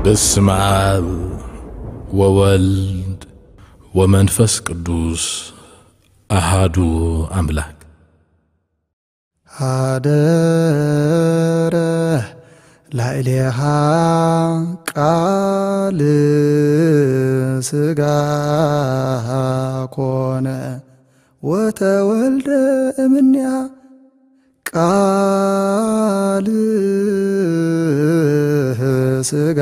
በስመ አብ ወወልድ ወመንፈስ ቅዱስ አሃዱ አምላክ። ሀደረ ላዕሌሃ ቃል ሥጋ ኮነ ወተወልደ እምኔሃ። ቃል ሥጋ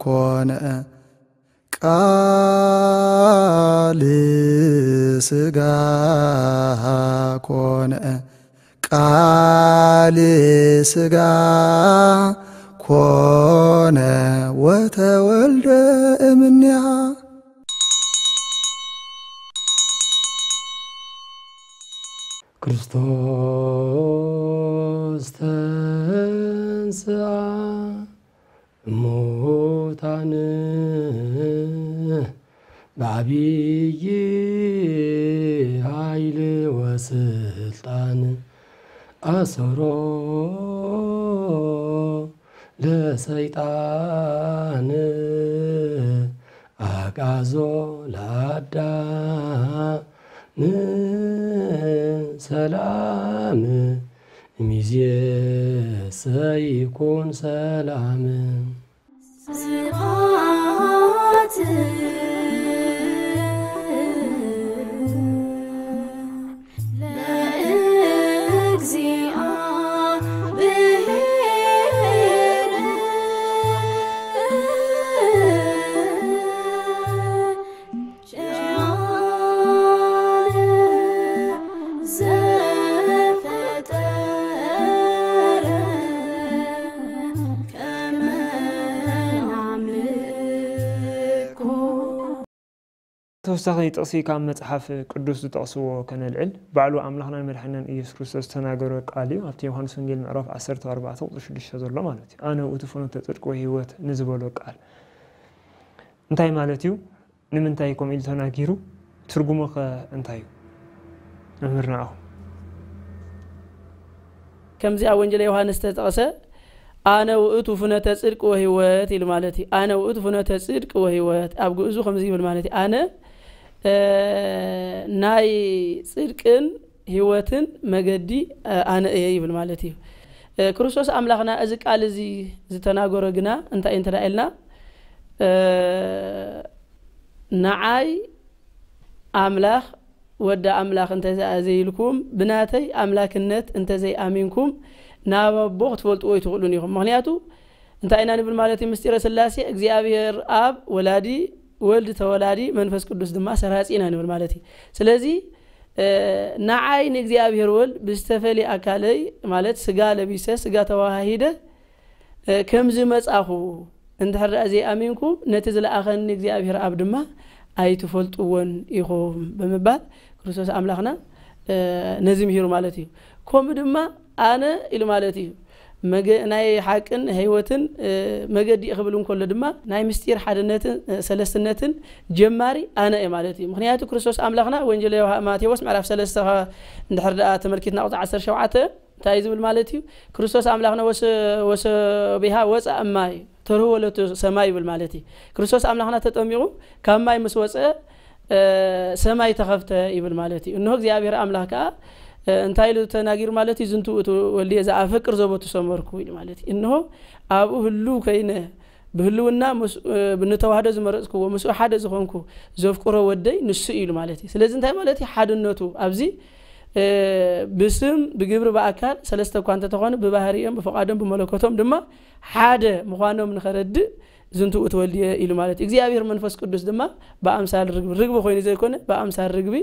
ኮነ፣ ቃል ሥጋ ኮነ፣ ቃል ሥጋ ኮነ ወተወልደ እምኔሃ። ክርስቶስ ተንሥአ እሙታን በዐቢይ ኃይል ወስልጣን፣ አሰሮ ለሰይጣን አግዓዞ ለአዳም። ሰላም እምይእዜሰ ይኩን ሰላም። ስብሐት ለእግዚአብሔር። ቸር ዘፈጠረ ከመ ናምልኮ። ተወሳኺ ጥቕሲ ካብ መጽሓፍ ቅዱስ ዝጠቕስዎ ከነልዕል። ባዕሉ ኣምላኽናን መድሓኒናን ኢየሱስ ክርስቶስ ዝተናገሮ ቃል እዩ። ኣብቲ ዮሃንስ ወንጌል ምዕራፍ ዓሰርተ ኣርባዕተ ቁጽሪ ሽዱሽተ ዘሎ ማለት እዩ። ኣነ ውእቱ ፍኖተ ጽድቅ ወህይወት ንዝበሎ ቃል እንታይ ማለት እዩ? ንምንታይ ከምኡ ኢሉ ተናጊሩ? ትርጉሙ ኸ እንታይ እዩ? መምህር ንዓኹም። ከምዚ ኣብ ወንጌል ዮሃንስ ዝተጠቕሰ፣ "ኣነ ውእቱ ፍኖተ ጽድቅ ወህይወት" ኢሉ ማለት እዩ። "ኣነ ውእቱ ፍኖተ ጽድቅ ወህይወት" ኣብ ግእዙ ከምዚ ይብል ማለት እዩ። ኣነ፣ እ፣ ናይ ጽድቅን ህይወትን መገዲ፣ እ፣ ኣነ እየ ይብል ማለት እዩ። እ፣ ክርስቶስ ኣምላኽና እዚ ቃል እዚ ዝተናገሮ ግና እንታይ እዩ እንተ ደኣ ኢልና፣ እ፣ ንዓይ ኣምላኽ ወዲ ኣምላኽ እንተ ዘይኢልኩም፣ ብናተይ ኣምላክነት እንተ ዘይኣሚንኩም፣ ናብ ኣቦ ክትፈልጥዎ ኣይትኽእሉን ኢኹም። ምኽንያቱ እንታይ ኢና ንብል ማለት እዩ? ምስጢረ ስላሴ እግዚኣብሔር ኣብ ወላዲ፣ ወልድ ተወላዲ፣ መንፈስ ቅዱስ ድማ ሰራጺ ኢና ንብል ማለት እዩ። ስለዚ፣ እ፣ ንዓይ ንእግዚኣብሔር ወልድ ብዝተፈልየ ኣካለይ፣ ማለት ስጋ ለቢሰ፣ ስጋ ተዋሃሂደ፣ እ፣ ከም ዝመጻኹ እንድሕር ደኣ ዘይኣሚንኩም፣ ነቲ ዝለኣኸኒ እግዚኣብሔር ኣብ ድማ ኣይትፈልጥዎን ኢኹም ብምባል ክርስቶስ ኣምላኽና፣ እ፣ ነዚ ምሂሩ ማለት እዩ። ከምኡ ድማ ኣነ ኢሉ ማለት እዩ። መገ-፣ ናይ ሓቅን ህይወትን፣ እ፣ መገዲ ክብል እንከሎ ድማ ናይ ምስጢር ሓድነትን፣ እ፣ ሰለስትነትን ጀማሪ ኣነ እየ ማለት እዩ። ምኽንያቱ ክርስቶስ ኣምላኽና ወንጌል ዮሃ-፣ ማቴዎስ ምዕራፍ ሰለስተ እንድሕር ደኣ ተመልኪትና ቁጽሪ ዓሰርተ ሸውዓተ እንታይ እዩ ዝብል ማለት እዩ? ክርስቶስ ኣምላኽና ወሰ-፣ ወሰቢሃ ወፃ እማይ ተርህወ ለቱ ሰማይ ይብል ማለት እዩ። ክርስቶስ ኣምላኽና ተጠሚቑ ካብ ማይ ምስ ወፀ፣ እ፣ ሰማይ ተኸፍተ ይብል ማለት እዩ። እንሆ እግዚኣብሔር ኣምላኽ ከዓ፣ እ፣ እንታይ ኢሉ ተናጊሩ ማለት እዩ? "ዝንቱ ውእቱ ወልድየ ዘኣፈቅር ዘቦቱ ሰመርኩ" ኢሉ ማለት እዩ። እንሆ ኣብኡ ህልው ኮይነ ብህልውና ምስ-፣ እ፣ ብንተዋህዶ ዝመረጽክዎ ምስኡ ሓደ ዝኾንኩ ዘፍቅሮ ወደይ ንሱ እዩ ኢሉ ማለት እዩ። ስለዚ እንታይ ማለት እዩ? ሓድነቱ ኣብዚ፣ እ፣ ብስም ብግብሪ ብኣካል ሰለስተ እኳ እንተተኾኑ ብባህሪኦም ብፍቓዶም ብመለኮቶም ድማ ሓደ ምዃኖም ንኸረድእ ዝንቱ ውእቱ ወልድየ ኢሉ ማለት እዩ። እግዚኣብሔር መንፈስ ቅዱስ ድማ ብኣምሳል ርግቢ፣ ርግቢ ኮይኑ ዘይኮነ ብኣምሳል ርግቢ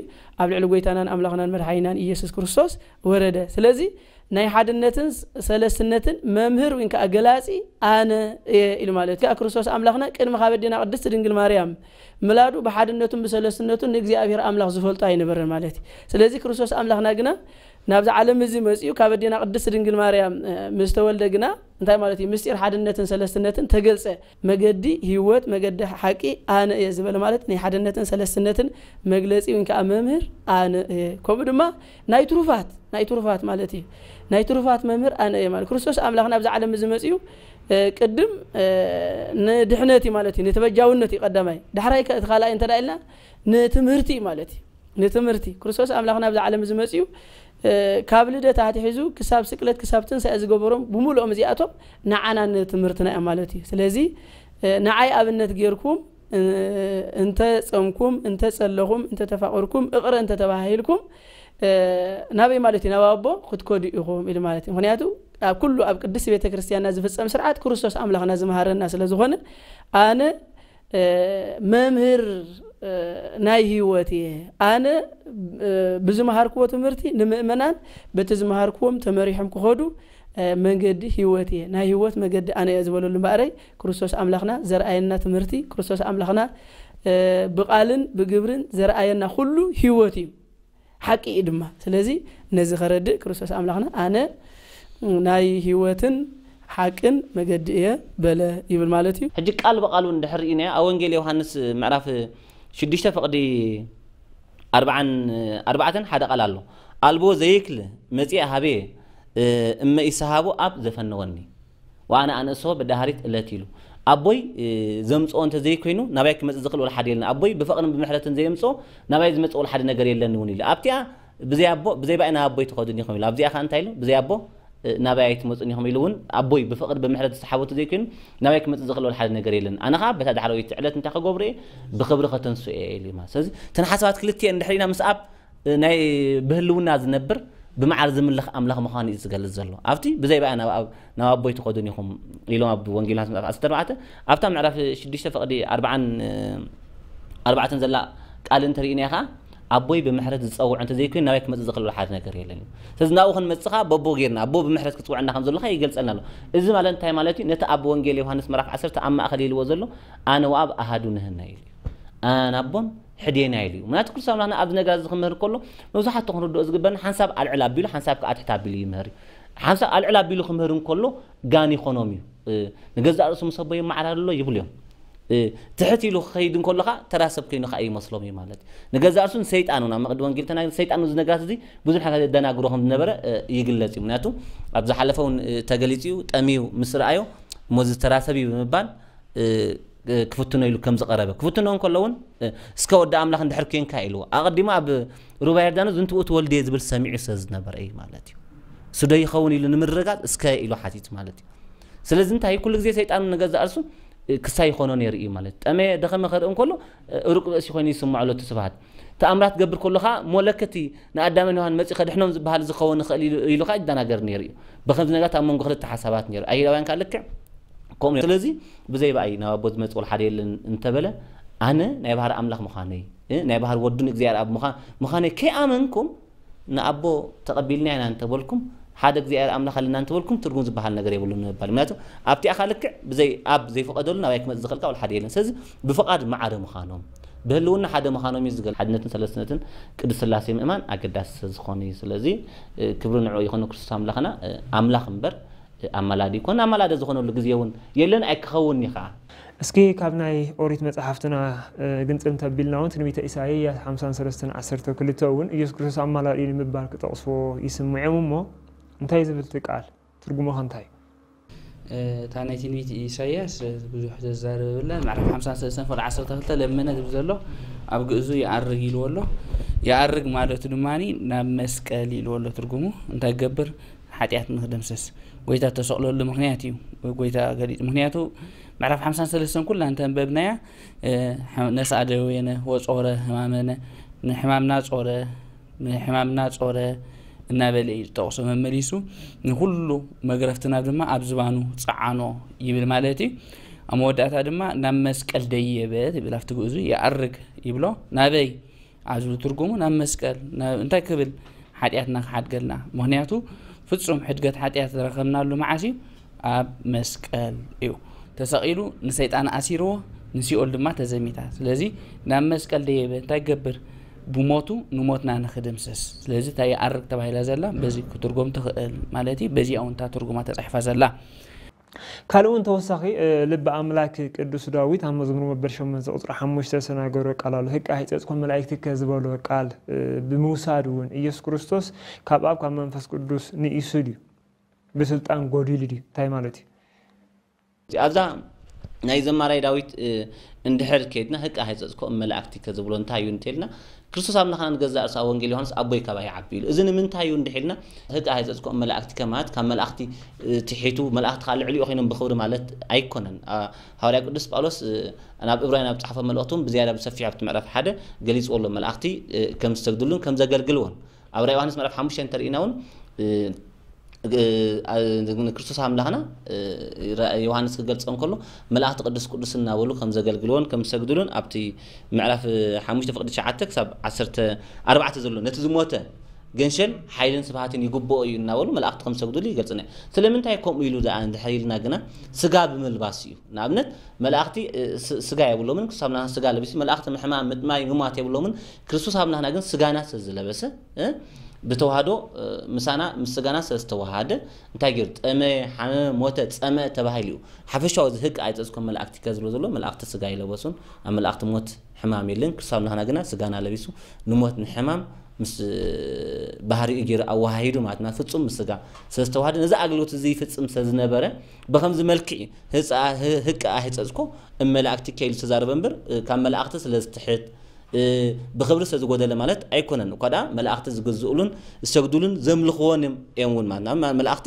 ኣብ ልዕሊ ጎይታናን ኣምላኽናን መድሓኒናን ኢየሱስ ክርስቶስ ወረደ። ስለዚ ናይ ሓድነትን ሰለስትነትን መምህር ወይ ከዓ ገላጺ ኣነ እየ ኢሉ ማለት እዩ። ከዓ ክርስቶስ ኣምላኽና ቅድሚ ካብ ኣዴና ቅድስቲ ድንግል ማርያም ምላዱ ብሓድነቱን ብሰለስትነቱን ንእግዚኣብሔር ኣምላኽ ዝፈልጦ ኣይነበረን ማለት እዩ። ስለዚ ክርስቶስ ኣምላኽና ግና ናብዚ ዓለም እዚ መጺኡ ካብ ኣዴና ቅድስት ድንግል ማርያም ምስ ተወልደ ግና እንታይ ማለት እዩ? ምስጢር ሓድነትን ሰለስትነትን ተገልጸ። መገዲ ህይወት፣ መገዲ ሓቂ ኣነ እየ ዝበለ ማለት ናይ ሓድነትን ሰለስትነትን መግለጺ ወይ ከዓ መምህር ኣነ እየ። ከምኡ ድማ ናይ ትሩፋት፣ ናይ ትሩፋት ማለት እዩ። ናይ ትሩፋት መምህር ኣነ እየ ማለት ክርስቶስ ኣምላኽ ናብዚ ዓለም እዚ መጺኡ ቅድም ንድሕነት እዩ ማለት እዩ፣ ንተበጃውነት እዩ ቀዳማይ። ዳሕራይ እቲ ካልኣይ እንተ ኢልና ንትምህርቲ እዩ ማለት እዩ። ንትምህርቲ ክርስቶስ ኣምላኽ ናብዚ ዓለም እዚ መጺኡ ካብ ልደት ኣትሒዙ ክሳብ ስቅለት ክሳብ ትንሳኤ ዝገበሮም ብምልኦም እዚኣቶም ንዓና ንትምህርትና እዮም ማለት እዩ። ስለዚ ንዓይ ኣብነት ጌርኩም እንተ ጸምኩም፣ እንተ ጸለኹም፣ እንተ ተፋቕርኩም፣ እቕረ እንተ ተባሂልኩም ናበይ ማለት እዩ? ናብ ኣቦ ክትከዱ ኢኹም ኢሉ ማለት እዩ። ምክንያቱ ኣብ ኩሉ ኣብ ቅድስት ቤተ ክርስቲያንና ዝፍጸም ስርዓት ክርስቶስ ኣምላኽና ዝመሃረና ስለ ዝኾነ ኣነ መምህር ናይ ህይወት እየ። ኣነ ብዝመሃርክዎ ትምህርቲ ንምእመናን በቲ ዝመሃርክዎም ተመሪሖም ክኸዱ መንገዲ ህይወት እየ። ናይ ህይወት መገዲ ኣነ እየ ዝበለሉ እምበኣረይ ክርስቶስ ኣምላኽና ዘርኣየና ትምህርቲ፣ ክርስቶስ ኣምላኽና ብቓልን ብግብርን ዘርኣየና ኩሉ ህይወት እዩ፣ ሓቂ እዩ ድማ። ስለዚ ነዚ ከረድእ ክርስቶስ ኣምላኽና ኣነ ናይ ህይወትን ሓቅን መገዲ እየ በለ ይብል ማለት እዩ። ሕጂ ቃል ብቃሉ እንድሕር ርኢናዮ ኣብ ወንጌል ዮሃንስ ምዕራፍ ሽዱሽተ ፍቕዲ ኣርባዓን ኣርባዕተን ሓደ ቃል ኣሎ። ኣልቦ ዘይክል መጺአ ሃቤ እመ ኢሰሃቦ ኣብ ዘፈነወኒ ወኣነ ኣነእስሆ በዳሃሪት እለት ኢሉ ኣቦይ ዘምፅኦ እንተዘይኮይኑ ናባይ ክመፅእ ዝኽእል ወላ ሓደ የለን። ኣቦይ ብፍቕርን ብምሕረትን ዘየምፅኦ ናባይ ዝመፅእ ወላ ሓደ ነገር የለን እውን ኢሉ ኣብቲኣ ብዘይ ኣቦ ብዘይ ባይ ናብ ኣቦይ ትኸዱን ኢኹም ኢሉ ኣብዚኣ ከዓ እንታይ ኢሉ ብዘይ ኣቦ ናባይ ኣይትመፁን ኢኹም ኢሉ እውን ኣቦይ ብፍቕሪ ብምሕረት ዝሰሓቦ እንተዘይኮይኑ ናባይ ክመፅእ ዝኽእል ወላ ሓደ ነገር የለን። ኣነ ከዓ በታ ዳሕረወይቲ ዕለት እንታይ ከገብሩ እየ ብኽብሪ ከተንስኡ እየ ኢሉ ማለት ስለዚ እተን ሓሳባት ክልቲኤን እንድሕር ኢና ምስ ኣብ ናይ ብህልውና ዝነብር ብመዓር ዝምልኽ ኣምላኽ ምዃኑ እዩ ዝገልጽ ዘሎ። ኣብቲ ብዘይ ብኣይ ናብ ኣብ ናብ ኣቦይ ትኸዱን ኢኹም ኢሎም ኣብ ወንጌል ዮሃንስ ምዕራፍ ዓሰርተ ኣርባዕተ ኣብታ ምዕራፍ ሽዱሽተ ፍቕዲ ኣርባዓን ኣርባዕተን ዘላ ቃል እንተርኢና ኢኻ ኣቦይ ብምሕረት ዝጸውዕ እንተዘይኮይኑ ናባይ ክመጽእ ዝኽእል ሓደ ነገር የለን እዩ። ስለዚ ናብኡ ክንመጽእ ኸዓ በቦ ጌርና ኣቦ ብምሕረት ክጽውዐና ከም ዘሎ ኸዓ ይገልጸልና ኣሎ። እዚ ማለት እንታይ ማለት እዩ? ነቲ ኣብ ወንጌል ዮሃንስ ምዕራፍ ዓሰርተ ኣብ ማእኸል ኢልዎ ዘሎ ኣነ ወኣብ ኣሃዱ ንህነ ኢሉ እዩ። ኣነን ኣቦን ሕዴና ኢሉ እዩ። ምክንያቱ ክርስቶስ ኣምላኽና ኣብዚ ነገር እዚ ክምህር ከሎ መብዛሕትኡ ክንርድኦ ዝግበና ሓንሳብ ኣልዕል ኣቢሉ ሓንሳብ ከዓ ትሕት ኣቢሉ ይምህር እዩ። ሓንሳብ ኣልዕል ኣቢሉ ክምህር እንከሎ ጋን ይኾኖም እዩ። እ፣ ንገዛእ ርእሱ ምስ ኣቦ ይመዓራር ኣሎ ይብሉ እዮም። እ፣ ትሕት ኢሉ ክኸይድ እንከሎ ከዓ ተራ ሰብ ኮይኑ ከዓ ይመስሎም እዩ ማለት እዩ። ንገዛእ ርእሱ ንሰይጣን እውን ኣብ መቕዲ ወንጌል ተናግሪ ሰይጣን እዚ ነገራት እዚ ብዙሕ ነገር የደናግሮ ከም ዝነበረ እ፣ ይግለጽ እዩ። ምክንያቱ ኣብ ዝሓለፈ እውን እ፣ ተገሊጹ እዩ። ጠምዩ ምስ ረኣዮ እሞ እዚ ተራ ሰብ እዩ ብምባል እ፣ እ፣ ክፍትኖ ኢሉ ከም ዝቐረበ ክፍትኖ እንከሎ እውን እ፣ እስከ ወዲ ኣምላኽ እንድሕር ኮንካ ኢልዎ ኣቐዲሙ ኣብ ሩባ ዮርዳኖስ ዝንትኡ ትወልድ እየ ዝብል ሰሚዑ ስለ ዝነበረ እዩ ማለት እዩ። እሱ ዶ ይኸውን ኢሉ ንምርጋጽ እስከ ኢሉ ሓቲቱ ማለት እዩ። ስለዚ እንታይ ኩሉ ግዜ ሰይጣን ንገዛእ ርእሱ እ፣ ክሳይ ይኾኖ ነይሩ እዩ ማለት እዩ። ጠመየ ደኸመ ከርኢ እንከሎ እ፣ ሩቅ ብእሲ ኮይኑ ይስምዖ ኣሎ እቲ ስብሃት ተኣምራት ገብር ከሎ ከዓ ሞለክቲ ንኣዳምን ዮሃን መፂ ከድሕኖም ዝበሃል ዝኸውን ይኽእል ኢሉ ኢሉ ከዓ ይደናገር ነይሩ እዩ። ብከምዚ ነገራት ኣብ መንጎ ክልተ ሓሳባት ነይሩ ኣይሁዳውያን ከዓ ልክዕ ከምኡ ነይሩ። ስለዚ ብዘይ ብኣይ ናብ ኣቦ ዝመፅእ ወላ ሓደ የለን እንተበለ ኣነ ናይ ባህሪ ኣምላኽ ምዃነይ እ፣ ናይ ባህሪ ወዱን እግዚኣብሔር ኣብ ምዃ- ምዃነይ ከይኣመንኩም ንኣቦ ተቐቢልና ኢና እንተበልኩም ሓደ እግዚኣብሔር ኣምላኽ ኣለና እንተበልኩም ትርጉም ዝበሃል ነገር የብሉን ንምባል ምክንያቱ ኣብቲኣኻ ልክዕ ብዘይ ኣብ ዘይፈቐደሉ ናባይ ክመፅእ ዝኽእል ወላ ሓደ የለን። ስለዚ ብፍቓድ ማዕረ ምዃኖም ብህልውና ሓደ ምዃኖም እዩ ዝገል ሓድነትን ሰለስትነትን ቅዱስ ስላሴ ምእማን ኣገዳሲ ስለዝኾነ እዩ። ስለዚ እ፣ ክብሪ ንዕኡ ይኹን ክርስቶስ ኣምላኽና እ፣ ኣምላኽ እምበር ኣማላዲ ይኮን ኣማላደ ዝኾነሉ ግዜ እውን የለን ኣይክኸውን እዩ ከዓ። እስኪ ካብ ናይ ኦሪት መጽሓፍትና እ፣ ግንጽል እንተቢልና እውን ትንቢተ ኢሳይያስ ሓምሳን ሰለስተን ዓሰርተ ክልተ እውን ኢየሱስ ክርስቶስ ኣማላዲ እዩ ንምባል ክጠቕስዎ ይስምዖም እሞ እንታይ ዝብል እቲ ቃል ትርጉሙ ከ እንታይ እዩ? እታ ናይ ትንቢት ኢሳያስ ብዙሕ ዘዛርብ የብላን። ምዕራፍ ሓምሳን ሰለስተን ፍቕዲ ዓሰርተ ክልተ ለመነ ዝብል ዘሎ ኣብ ግእዙ ይኣርግ ኢልዎ ኣሎ። ይኣርግ ማለቱ ድማ ናብ መስቀል ኢልዎ ኣሎ ትርጉሙ። እንታይ ክገብር? ሓጢኣት ንክደምሰስ። ጎይታ እተሰቕለሉ ምኽንያት እዩ። ጎይታ ገሊጹ። ምኽንያቱ ምዕራፍ ሓምሳን ሰለስተን ኩላ እንተንበብናያ ነስኣ ደዌነ ወጾረ ህማመነ ንሕማምና ጾረ ንሕማምና ጾረ እናበለ እዩ ዝጠቕሶ መመሊሱ ንኹሉ መግረፍትና ድማ ኣብ ዝባኑ ጸዓኖ ይብል ማለት እዩ። ኣብ መወዳእታ ድማ ናብ መስቀል ደየበ ይብል ኣብቲ ግእዙ ይኣርግ ይብሎ ናበይ ኣብ ዝብል ትርጉሙ ናብ መስቀል እንታይ ክብል ሓጢኣትና ክሓድገልና ምኽንያቱ ፍጹም ሕድገት ሓጢኣት ዝረኸብናሉ መዓስ እዩ ኣብ መስቀል እዩ ተሰቒሉ ንሰይጣን ኣሲርዎ ንሲኦል ድማ ተዘሚታ ስለዚ ናብ መስቀል ደየበ እንታይ ክገብር ብሞቱ ንሞትና ንኽድምስስ። ስለዚ እታ ይኣርግ ተባሂላ ዘላ በዚ ክትርጎም ትኽእል ማለት እዩ። በዚኣ እውን እታ ትርጉማ ተጻሒፋ ዘላ። ካልእ እውን ተወሳኺ ልቢ ኣምላክ ቅዱስ ዳዊት ኣብ መዝሙር መበል ሸሞንተ ቁፅሪ ሓሙሽተ ዝተናገሮ ቃል ኣሎ። ህቃ ሂፀፅኮ መላእክትከ ዝበሎ ቃል ብምውሳድ እውን ኢየሱስ ክርስቶስ ካብ ኣብ ካብ መንፈስ ቅዱስ ንኢሱ ድዩ? ብስልጣን ጎዲሉ ድዩ? እንታይ ማለት እዩ? ኣብዛ ናይ ዘማራይ ዳዊት እንድሕር ከይድና ህቃ ሂፀፅኮ መላእክትከ ዝብሎ እንታይ እዩ እንተልና ክርስቶስ ኣምላኽና ንገዛእ ርእሱ ኣብ ወንጌል ዮሃንስ ኣቦይ ካባይ ይዓቢ ኢሉ። እዚ ንምንታይ እዩ እንድሒልና ህቃ ሂፀፅኮ መላእክትከ ማለት ካብ መላእክቲ ትሒቱ መላእክቲ ከዓ ልዕሊኡ ኮይኖም ብኽብሪ ማለት ኣይኮነን። ሃዋርያ ቅዱስ ጳውሎስ ናብ እብራውያን ኣብ ዝፀሓፎ መልእኽቱ እውን ብዝያዳ ብሰፊሑ ኣብቲ ምዕራፍ ሓደ ገሊፅዎ ኣሎ። መላእክቲ ከም ዝሰግድሉን ከም ዘገልግልዎን ኣብ ራእይ ዮሃንስ ምዕራፍ ሓሙሽተ እንተርኢና እውን ንክርስቶስ ኣምላኽና ዮሃንስ ክገልፆ እንከሎ መላእክቲ ቅዱስ ቅዱስ እናበሉ ከም ዘገልግልዎን ከም ዝሰግድሉን ኣብቲ ምዕራፍ ሓሙሽተ ፍቅዲ ትሽዓተ ክሳብ ዓሰርተ ኣርባዕተ ዘሎ ነቲ ዝሞተ ገንሸል ሓይልን ስብሃትን ይግብኦ እዩ እናበሉ መላእክቲ ከም ዝሰግድሉ ይገልፅና እዩ። ስለምንታይ ከምኡ ኢሉ ደኣ እንድሕር ኢልና ግና ስጋ ብምልባስ እዩ። ንኣብነት መላእክቲ ስጋ የብሎምን፣ ክርስቶስ ኣምላኽና ስጋ ለቢሱ መላእክቲ ምሕማም ምጥማይ ምማት የብሎምን። ክርስቶስ ኣምላኽና ግን ስጋና ስለዝለበሰ ብተዋህዶ ምሳና ምስ ስጋና ስለዝተዋሃደ እንታይ ገይሩ? ጠመየ፣ ሓመመ፣ ሞተ፣ ጸመ ተባሂሉ እዩ። ሓፈሻዊ እዚ ህቅ ኣይጸጽኮም መላእክቲ ከዝብሎ ዘሎ መላእክቲ ስጋ ይለበሱን ኣብ መላእክቲ ሞት ሕማም የለን። ክርስቶስ ኣምላኽና ግና ስጋና ለቢሱ ንሞት ንሕማም ምስ ባህሪኡ ገይሩ ኣወሃሂዱ ማለት ናብ ፍጹም ምስ ስጋ ስለዝተዋሃደ ነዚ ኣገልግሎት እዚ ይፍጽም ስለዝነበረ ብኸምዚ መልክዕ ህቅ ኣይጸጽኮ እመላእክቲ ከይሉ ዝተዛረበ እምበር ካብ መላእክቲ ስለዝትሕት ብኽብሪ ስለዝጎደለ ማለት ኣይኮነን። እኳ ደኣ መላእኽቲ ዝግዝኡሉን ዝሰግዱሉን ዘምልኽዎን እዮም እውን ማለት ናብ መላእኽቲ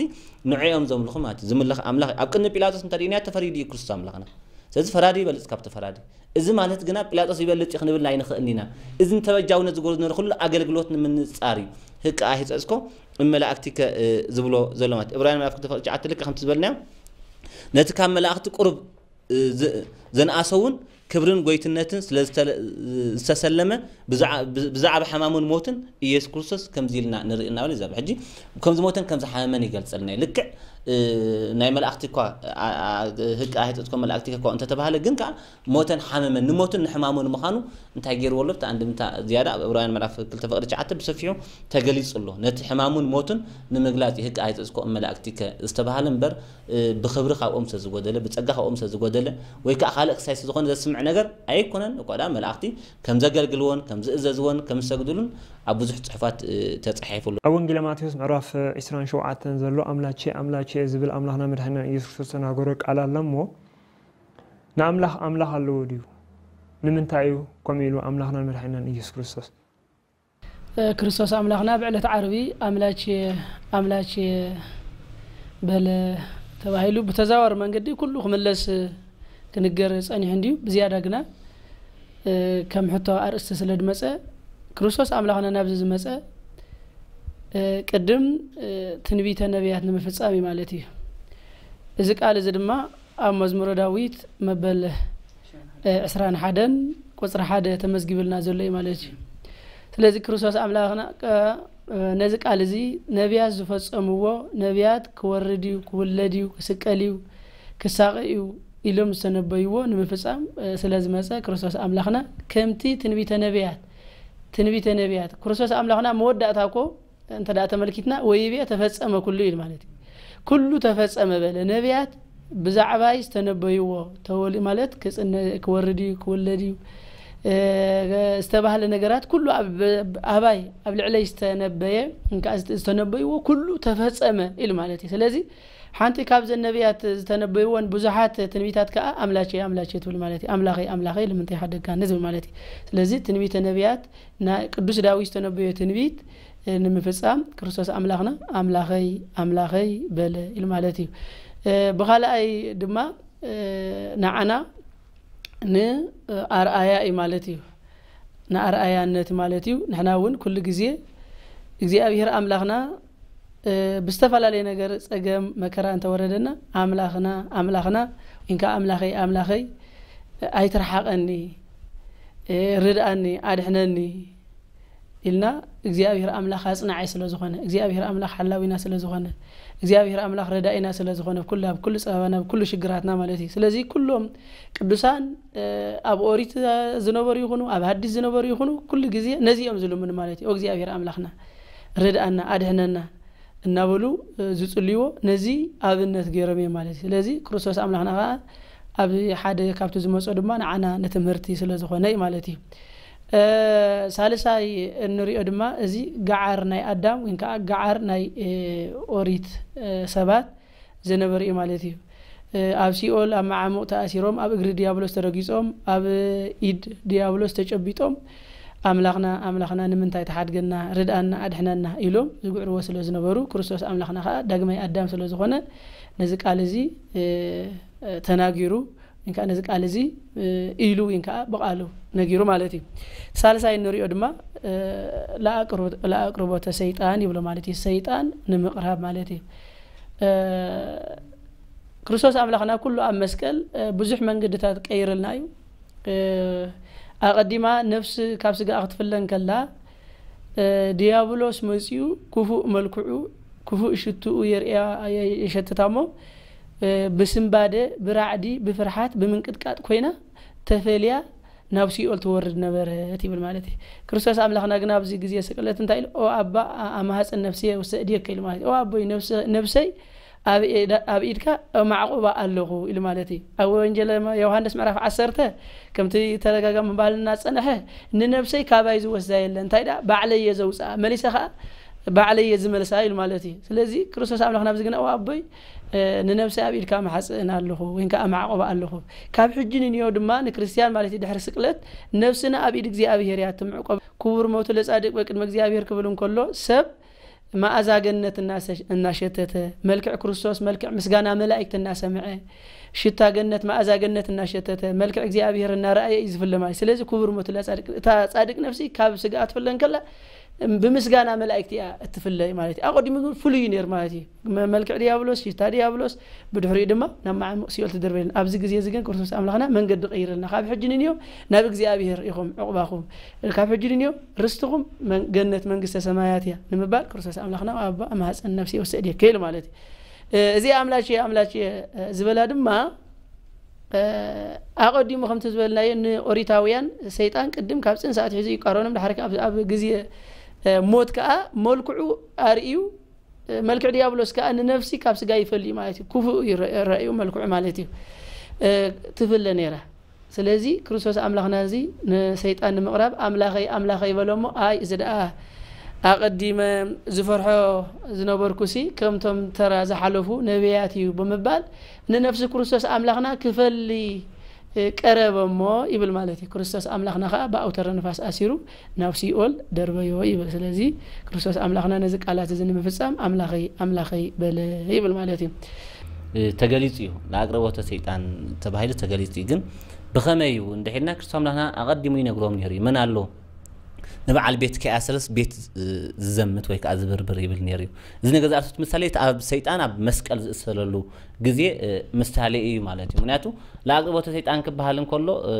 ንዕኦም ዘምልኹ ማለት እዩ። ዝምለኽ ኣምላኽ ኣብ ቅድሚ ጲላጦስ እንተሪእናዮ ተፈሪዱ እዩ ክርስቶስ ኣምላኽና። ስለዚ ፈራዲ ይበልፅ ካብቲ ፈራዲ። እዚ ማለት ግና ጲላጦስ ይበልፅ እዩ ክንብል ኣይንኽእልን ኢና። እዚ ንተበጃውነት ዝገብሮ ዝነበረ ኩሉ ኣገልግሎት ንምንፃር እዩ። ህቅ ኣሂፀፅኮ እመላእክቲከ ዝብሎ ዘሎ ማለት ዕብራውያን ምዕራፍ ክልተ ፍቕዲ ትሽዓተ ልክዕ ከምቲ ዝበልናዮ ነቲ ካብ መላእኽቲ ቁሩብ ዘንኣሰ እውን ክብርን ጎይትነትን ስለዝተሰለመ ብዛዕባ ሕማሙን ሞትን ኢየሱስ ክርስቶስ ከምዚ ኢልና ንርኢ እናበለ ይዛረብ። ሕጂ ከም ዝሞተን ከም ዝሓመመን ይገልጸልና እዩ። ልክዕ ናይ መላእክቲ እኳ ህቅ ኣይተጽኮ መላእክቲ እኳ እንተተባህለ ግን ከዓ ሞተን ሓመመን ንሞትን ንሕማሙን ምዃኑ እንታይ ገይርዎ ኣሎ? ብቲ ኣንድምታ ዝያዳ ኣብ ዕብራውያን ምዕራፍ ክልተ ፍቕዲ ትሽዓተ ብሰፊሑ ተገሊጹ ኣሎ። ነቲ ሕማሙን ሞቱን ንምግላጽ እዩ ህቅ ኣይተጽኮ መላእክቲ ዝተባህለ እምበር ብኽብሪ ካብኦም ስለዝጎደለ ብፀጋ ካብኦም ስለዝጎደለ ወይ ከዓ ካልእ ክሳይ ስለዝኾነ ዘስምዕ ነገር ኣይኮነን። እኳ ደኣ መላእኽቲ ከም ዘገልግልዎን ከም ዝእዘዝዎን ከም ዝሰግድሉን ኣብ ብዙሕ ፅሑፋት ተፃሒፉ ኣሎ። ኣብ ወንጌለ ማቴዎስ ምዕራፍ ዕስራን ሸውዓተን ዘሎ ኣምላቼ ኣምላቼ ዝብል ኣምላኽና መድሓኒና ኢየሱስ ክርስቶስ ተናገሮ ቃል ኣሎ እሞ ንኣምላኽ ኣምላኽ ኣለዎ ድዩ? ንምንታይ እዩ ከምኡ ኢሉ ኣምላኽናን መድሓኒናን ኢየሱስ ክርስቶስ? ክርስቶስ ኣምላኽና ብዕለት ዓርቢ ኣምላቼ ኣምላቼ በለ ተባሂሉ ብተዛዋሪ መንገዲ ኩሉ ክምለስ ክንገር ጸኒሑ እንድዩ። ብዝያዳ ግና ከም ሕቶ ኣርእስቲ ስለ ድመጸ ክርስቶስ ኣምላኽና ናብዚ ዝመጸ ቅድም ትንቢተ ነቢያት ንምፍጻም እዩ ማለት እዩ። እዚ ቃል እዚ ድማ ኣብ መዝሙረ ዳዊት መበል ዕስራን ሓደን ቁፅሪ ሓደ ተመዝጊብልና ዘሎ እዩ ማለት እዩ። ስለዚ ክርስቶስ ኣምላኽና ነዚ ቃል እዚ ነቢያት ዝፈጸምዎ ነቢያት ክወርድ እዩ፣ ክውለድ እዩ፣ ክስቀል እዩ፣ ክሳቐ እዩ ኢሎም ዝተነበይዎ ንምፍጻም ስለ ዝመጸ ክርስቶስ ኣምላኽና ከምቲ ትንቢተ ነቢያት ትንቢተ ነቢያት ክርስቶስ ኣምላኽና መወዳእታ እኮ እንተ ደኣ ተመልኪትና ወይቤ ተፈጸመ ኩሉ ኢሉ ማለት እዩ። ኩሉ ተፈጸመ በለ። ነቢያት ብዛዕባይ ዝተነበይዎ ተወሊ ማለት ክጽነ ክወርድ እዩ ክውለድ እዩ ዝተባህለ ነገራት ኩሉ ኣባይ ኣብ ልዕለይ ዝተነበየ እንከዓ ዝተነበይዎ ኩሉ ተፈጸመ ኢሉ ማለት እዩ። ስለዚ ሓንቲ ካብዘን ነቢያት ዝተነበይዎን ብዙሓት ትንቢታት ከኣ ኣምላቸ ኣምላቸ ትብል ማለት እዩ። ኣምላኸይ ኣምላኸይ ልምንታይ ሓደግካኒ ዝብል ማለት እዩ። ስለዚ ትንቢተ ነቢያት ናይ ቅዱስ ዳዊት ዝተነበዮ ትንቢት ንምፍጻም ክርስቶስ ኣምላኽና ኣምላኸይ ኣምላኸይ በለ ኢሉ ማለት እዩ። ብኻልኣይ ድማ ንዓና ንኣርኣያ እዩ ማለት እዩ። ንኣርኣያነት ማለት እዩ። ንሕና እውን ኩሉ ግዜ እግዚኣብሔር ኣምላኽና ብዝተፈላለየ ነገር ጸገም መከራ እንተወረደና ኣምላኽና ኣምላኽና ወይንከዓ ኣምላኸይ ኣምላኸይ ኣይትርሓቐኒ ርድኣኒ ኣድሕነኒ ኢልና እግዚኣብሔር ኣምላኽ ኣጽናዓይ ስለ ዝኾነ፣ እግዚኣብሔር ኣምላኽ ሓላዊና ስለ ዝኾነ፣ እግዚኣብሔር ኣምላኽ ረዳኢና ስለ ዝኾነ፣ ኣብ ኩሉ፣ ኣብ ኩሉ ጸበባና፣ ኣብ ኩሉ ሽግራትና ማለት እዩ። ስለዚ ኩሎም ቅዱሳን፣ እ፣ ኣብ ኦሪት ዝነበሩ ይኹኑ፣ ኣብ ሃዲስ ዝነበሩ ይኹኑ፣ ኩሉ ግዜ ነዚ እዮም ዝልምኑ ማለት እዩ። "ኦ እግዚኣብሔር ኣምላኽና፣ ርድኣና፣ ኣድሕነና" እናበሉ፣ እ፣ ዝጽልይዎ ነዚ ኣብነት ገይሮም እዮም ማለት እዩ። ስለዚ ክርስቶስ ኣምላኽና ከኣ ኣብ ሓደ ካብቲ ዝመጾ ድማ ንዓና ንትምህርቲ ስለ ዝኾነ እዩ ማለት እዩ። እ፣ ሳልሳይ እንሪኦ ድማ እዚ ገዓር ናይ ኣዳም ወይ ከዓ ገዓር ናይ፣ እ፣ ኦሪት፣ እ፣ ሰባት ዝነበረ እዩ ማለት እዩ። እ፣ ኣብ ሲኦል ኣብ መዓሙቕ ተኣሲሮም፣ ኣብ እግሪ ዲያብሎስ ተረጊጾም፣ ኣብ ኢድ ዲያብሎስ ተጨቢጦም፣ "ኣምላኽና፣ ኣምላኽና፣ ንምንታይ ትሓድገና? ርድኣና፣ ኣድሕነና" ኢሎም ዝግዕርዎ ስለ ዝነበሩ፣ ክርስቶስ ኣምላኽና ኸኣ ዳግማይ ኣዳም ስለ ዝኾነ፣ ነዚ ቃል እዚ፣ እ፣ ተናጊሩ፣ ወይ ከዓ ነዚ ቃል እዚ፣ እ፣ ኢሉ፣ ወይ ከዓ ብቓሉ ነጊሩ ማለት እዩ። ሳልሳይ እንሪኦ ድማ፣ እ፣ ለኣቅርቦ-፣ ለኣቅርቦተ ሰይጣን ይብሎ ማለት እዩ። ሰይጣን ንምቕራብ ማለት እዩ። እ፣ ክርስቶስ ኣምላኽና ኩሉ ኣብ መስቀል፣ እ፣ ብዙሕ መንገድታት ቀይርልና እዩ። እ፣ ኣቐዲማ ነፍሲ ካብ ስጋኣ ክትፍለ እንከላ፣ እ፣ ድያብሎስ መጺኡ ክፉእ መልክዑ፣ ክፉእ ሽትኡ የርእያ፣ የ-፣ የሸትታ እሞ፣ እ፣ ብስንባደ፣ ብራዕዲ፣ ብፍርሓት፣ ብምንቅጥቃጥ ኮይና ተፈልያ ናብ ሲኦል ትወርድ ነበረት ይብል ማለት እዩ። ክርስቶስ ኣምላኽና ግን ኣብዚ ግዜ ስቅለት እንታይ ኢሉ? "ኦ ኣባ፣ ኣ-፣ ኣማህጽን ነፍስየ ውሰእድየከ" ኢሉ ማለት እዩ። "ኦ ኣቦይ፣ ነፍሰ-፣ ነፍሰይ ኣብ ኢዳ-፣ ኣብ ኢድካ ማዕቆባ ኣለኹ" ኢሉ ማለት እዩ። ኣብ ወንጌል ዮሃንስ ምዕራፍ ዓሰርተ ከምቲ ተደጋጋሚ ምባልና ዝጸንሐ፣ "ንነፍሰይ ካባይ ዝወስዳ የለን፣ እንታይ ደኣ ባዕለይ እየ ዘውጽኣ፣ መሊሰ ከኣ ባዕለይ እየ ዝመልሳ" ኢሉ ማለት እዩ። ስለዚ ክርስቶስ ኣምላኽና ኣብዚ ግና፣ "ኦ ኣቦይ፣ እ፣ ንነፍሰይ ኣብ ኢድካ መሓጽእን ኣለኹ፣ ወይ ከዓ ማዕቆባ ኣለኹ። ካብ ሕጂ ንንዮ ድማ ንክርስትያን" ማለት እዩ፣ ድሕሪ ስቅለት "ነፍስና ኣብ ኢድ እግዚኣብሔር እያ ትምዕቆብ። ክቡር ሞቱ ለጻድቅ በቅድመ እግዚኣብሔር" ክብል እንከሎ፣ ሰብ መኣዛ ገነት እናሰ-፣ እናሸተተ፣ መልክዕ ክርስቶስ፣ መልክዕ ምስጋና መላእክት እናሰምዐ፣ ሽታ ገነት፣ መኣዛ ገነት እናሸተተ፣ መልክዕ እግዚኣብሔር እናረኣየ እዩ ዝፍለ ማለት እዩ። ስለዚ ክቡር ሞቱ ለጻድቅ፣ እታ ጻድቅ ነፍሲ ካብ ስጋኣ ትፍለ እንከላ፣ ብምስጋና መላእክት እያ እትፍለ ማለት እዩ። ኣቐዲሙ ግን ፍሉይ እዩ ነይሩ ማለት እዩ። መ-፣ መልክዕ ዲያብሎስ፣ ሽታ ዲያብሎስ፣ ብድሕሪኡ ድማ ናብ መዓሙቕ ሲኦል ትድርበየልና። ኣብዚ ግዜ እዚ ግን ክርስቶስ ኣምላኽና መንገዲ ቀይረልና። ካብ ሕጂ ንንዮ ናብ እግዚኣብሔር ኢኹም ዕቑባኹም። ካብ ሕጂ ንንዮ ርስትኹም መን-፣ ገነት መንግስተ ሰማያት እያ ንምባል ክርስቶስ ኣምላኽና ኣብ ኣማህፀን ነፍሲ ይወስድ እየ ክብል ማለት እዩ። እ፣ እዚ ኣምላች እየ፣ ኣምላች እየ፣ እ፣ ዝበላ ድማ፣ እ፣ ኣቐዲሙ ከምቲ ዝበልናዮ ንኦሪታውያን ሰይጣን ቅድም ካብ ጽንሲ ኣትሒዙ ይቃረኖም፣ ድሓር ከኣ ኣብ፣ ኣብ ግዜ፣ እ፣ ሞት ከኣ መልክዑ ኣርእዩ፣ እ፣ መልክዕ ዲያብሎስ ከኣ ንነፍሲ ካብ ስጋ ይፈልዩ ማለት እዩ። ክፉእ እዩ ረ-፣ ረእዩ መልክዑ ማለት እዩ። እ፣ ትፍለ ነይራ። ስለዚ ክርስቶስ ኣምላኽና እዚ ንሰይጣን ንምቕራብ "ኣምላኸይ፣ ኣምላኸይ" በሎ እሞ፣ ኣይ፣ እዚ ደኣ ኣቐዲመ ዝፈርሖ ዝነበርኩሲ ከምቶም ተራ ዝሓለፉ ነቢያት እዩ ብምባል ንነፍሲ ክርስቶስ ኣምላኽና ክፈሊ፣ እ፣ ቀረበ እሞ ይብል ማለት እዩ። ክርስቶስ ኣምላኽና ኸኣ ብኣውተረ ንፋስ ኣሲሩ ናብ ሲኦል ደርበዮ ይብል። ስለዚ ክርስቶስ ኣምላኽና ነዚ ቃላት እዚ ንምፍጻም "ኣምላኸይ፣ ኣምላኸይ" በለ ይብል ማለት እዩ። እ፣ ተገሊጹ እዩ። ንኣቅርቦተ ሰይጣን ተባሂሉ ተገሊጹ እዩ። ግን ብኸመይ እዩ እንድሒልና ክርስቶስ ኣምላኽና ኣቐዲሙ ይነግሮም ነይሩ እዩ። መን ኣሎ ንበዓል ቤት ከይኣሰረስ ቤት፣ እ፣ ዝዘምት ወይ ከዓ ዝብርብር ይብል ነይሩ እዩ። እዚ ነገር ዝኣርሱት ምሳሌ እቲ ኣብ ሰይጣን ኣብ መስቀል ዝእሰረሉ ግዜ፣ እ፣ ምሳሌ እዩ ማለት እዩ። ምክንያቱ ለኣቅርቦተ ሰይጣን ክበሃል እንከሎ፣ እ፣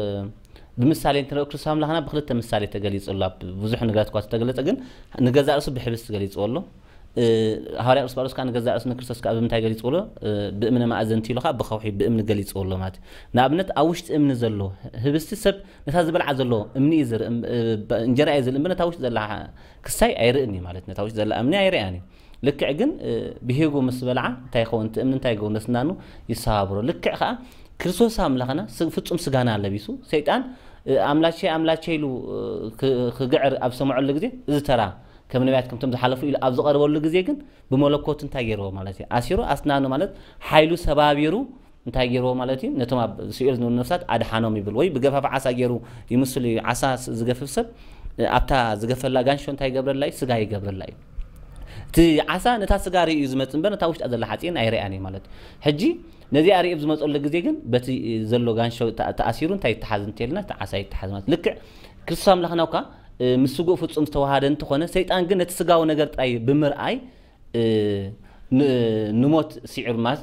ብምሳሌ እንትንሪኦ ክርስቶስ ኣምላኽና ብክልተ ምሳሌ ተገሊጹ ኣሎ። ኣብ ብዙሕ ነገራት እኳ ተገለጸ፣ ግን ንገዛእ ርእሱ ብሕብስቲ ገሊጽዎ ኣሎ። እ፣ ሃዋርያ ቅዱስ ጳውሎስ ከኣ ንገዛእ ርእሱ ንክርስቶስ ከኣ ብምንታይ ገሊጽዎ ኣሎ? እ፣ ብእምነ ማእዘንቲ ኢሉ ከኣ ብኸውሒ ብእምኒ ገሊጽዎ ኣሎ ማለት እዩ። ንኣብነት ኣብ ውሽጢ እምኒ ዘሎ ህብስቲ ሰብ ነታ ዝበልዓ ዘሎ እምኒ እዩ ዝርኢ፣ እም-፣ እ፣ ብ-፣ እንጀራ እዩ ዝርኢ፣ እምበር ነታ ውሽጢ ዘላ ክሳይ ኣይርእን እዩ ማለት እዩ። ነታ ውሽጢ ዘላ እምኒ ኣይርእያን እዩ። ልክዕ ግን፣ እ፣ ብሄጉ ምስ በልዓ እንታይ ይኸውን? እቲ እምኒ እንታይ ይገብር? ነስናኑ ይሰባብሮ። ልክዕ ከኣ ክርስቶስ ኣምላኽና ስ-፣ ፍጹም ስጋና ለቢሱ፣ ሰይጣን፣ እ፣ "ኣምላቼ፣ ኣምላቼ" ኢሉ፣ እ፣ ክ-፣ ክግዕር ኣብ ዝሰምዐሉ ግዜ፣ እዚ ተራ ከም ነቢያት ከምቶም ዝሓለፉ ኢሉ ኣብ ዝቐርበሉ ግዜ ግን ብመለኮቱ እንታይ ገይርዎ ማለት እዩ? ኣሲሩ ኣስናኑ ማለት ሓይሉ ሰባቢሩ እንታይ ገይርዎ ማለት እዩ? ነቶም ኣብ ሲኦል ዝነበሩ ነፍሳት ኣድሓኖም ይብል። ወይ ብገፋፍ ዓሳ ገይሩ ይምስሉ እዩ። ዓሳ ስ-፣ ዝገፍፍ ሰብ፣ እ፣ ኣብታ ዝገፈላ ጋንሾ እንታይ ይገብረላ እዩ? ስጋ ይገብረላ እዩ። እቲ ዓሳ ነታ ስጋ ርእዩ እዩ ዝመጽእ እምበር ነታ ውሽጣ ዘላ ሓፂን ኣይርእያን እዩ ማለት እዩ። ሕጂ ነዚኣ ርእዩ ኣብ ዝመፀሉ ግዜ ግን በቲ ዘሎ ጋንሾ ተኣ-፣ ተኣሲሩ እንታይ ይተሓዝ እንተልና እቲ ዓሳ ይተሓዝ ማለት እዩ። ልክዕ ክርስቶስ ኣምላኽና እኳ፣ እ፣ ምስ ስግኡ ፍጹም ዝተዋሃደ እንተኾነ ሰይጣን ግን ነቲ ስጋዊ ነገር ጥራይ ብምርኣይ፣ እ፣ ንሞት ስዒሩ ማለት